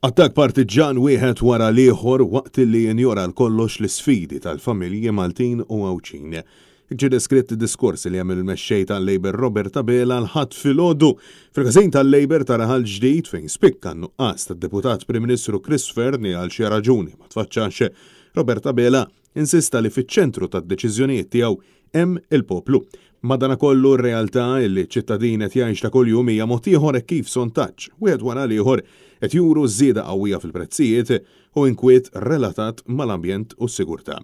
Attakk partiġġan wieħed wara l-ieħor waqt li injora għal kollox l-isfidi tal-familji Maltin u Għawdxin. Hekk ġie deskritt id-diskors li għamel il-Mexxej tal-Labour Robert Abela l-Ħadd filgħodu fil-każin tal-Labour ta' Raħal Ġdid fejn spikka n-nuqqas tad-Deputat Prim Ministru Chris Fearne li għal xi raġuni ma tfaċċax. Robert Abela Insista li fiċ-ċentru tad-deċiżjonijiet tiegħu hemm il-poplu. Madanakollu r-realtà li ċ-ċittadin qed jgħix ta' kuljum hija mod ieħor hekk kif sontaġġ, wieħed wara l-ieħor, qed juru żieda qawwija fil-prezzijiet u inkwiet relatat mal-ambjent u s-sigurtà.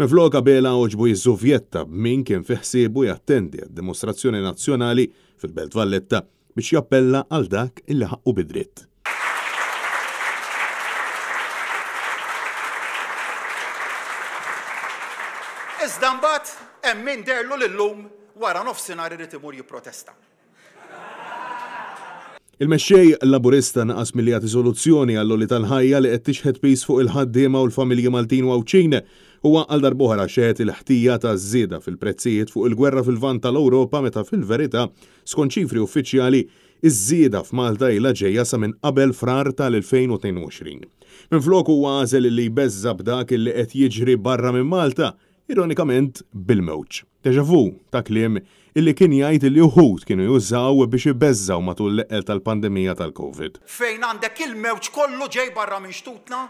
Minflok Abela għoġbu jiżżuvjetta b'min kien fi ħsiebu jattendi għad-dimostrazzjoni nazzjonali fil-Belt Valletta biex jappella għal dak li ħaqqu bi dritt. Iżda mbagħad hemm min deherlu li llum wara nofsinhar irid imur jipprotesta. Il-Mexxej Laburista naqas milli jagħti soluzzjoni għall-għoli tal-ħajja li qed tixħet piż fuq il-ħaddiema u l-familji Maltin u Għawdxin. Huwa għal darb'oħra xeħet il-ħtija taż-żieda fil-prezzijiet fuq il-gwerra fil-Lvant tal-Ewropa meta fil-verità Skont ċifri uffiċjali, iż-żieda f'Malta ilha ġejja sa minn qabel Frar tal-2022. Minflok huwa għażel li jbeżża' b'dak li qed jiġri barra minn Malta, ironikament bil-mewġ. Déjà vu ta' kliem illi kien jgħid li uħud kienu jużaw biex ibeżżgħu matul l-eqqel tal-pandemija tal-Covid. Fejn għandek il-mewġ kollu ġej barra minn xtutna,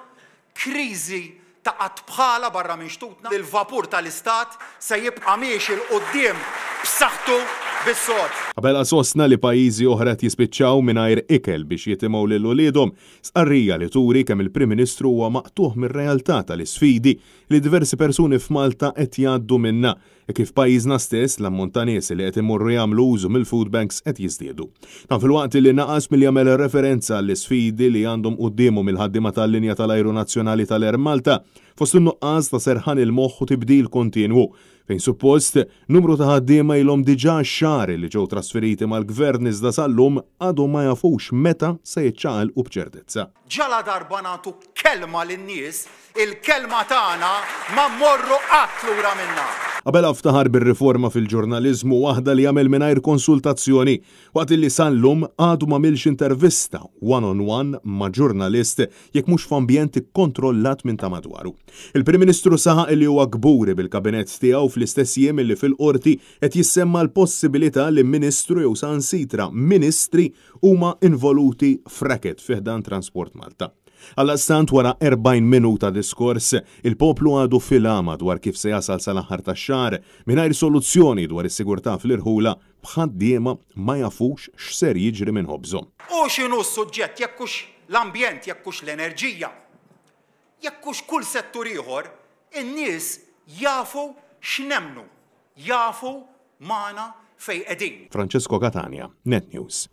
Kriżi ta' qatt bħalha barra minn xtutna, il-vapur tal-Istat se jibqa' miexi 'l quddiem b'saħħtu bis-sod. Abela sostna li pajjiżi oħra qed jispiċċaw mingħajr ikel biex jitimgħu lil uliedhom, stqarrija li turi kemm il-Prim Ministru huwa maqtugħ mir-realtà tal-isfidi li diversi persuni f'Malta qed jgħaddu minnha Hekk kif f'pajjiżna stess, l-ammont ta' nies li qed imorru jagħmlu użu mill-food banks qed jiżdiedu. Dan filwaqt li naqas milli jagħmel referenza għall-isfidi li għandhom quddiemhom il-ħaddiema tal-linja tal-ajru nazzjonali tal-Air Malta, fost in-nuqqas ta' serħan il-moħħ u tibdil kontinwu, fejn suppost numru ta' ħaddiema ilhom diġà xahar li ġew trasferiti mal-Gvern iżda sal-lum għadhom ma jafux meta se jiċċaqalqu b'ċertezza. Ġaladarba nagħtu kelma lin-nies, il-kelma tagħna ma mmorru qatt lura minnha. Abela ftaħar bir-riforma fil-ġurnaliżmu, waħda li għamel mingħajr konsultazzjoni, waqt li sal-lum għadu m'għamilx intervista one on one ma' ġurnalist jekk mhux f'ambjent ikkontrollat minn ta' madwaru. Il-Prim Ministru saħaq li huwa kburi bil-Kabinett tiegħu fl-istess jiem li fil-Qorti qed jissemma l-possibilità li Ministru jew saħansitra Ministri huma involuti f'racket fi ħdan Transport Malta. Għaldaqstant wara 40 minuta diskors, il-poplu għadu fil-għama dwar kif se jasal sal-aħħar tax-xahar mingħajr soluzzjoni dwar is-sigurtà fl-irħula b'ħaddiema ma jafux x'ser jiġri minn ħobżhom. Hu x'inhu s-suġġett, jekk hux l-ambjent, jekk hux l-enerġija, jekk hux kull settur ieħor, in-nies jafu x'nemmnu, jafu magħna fejn qegħdin. Francesco Catania, Net News.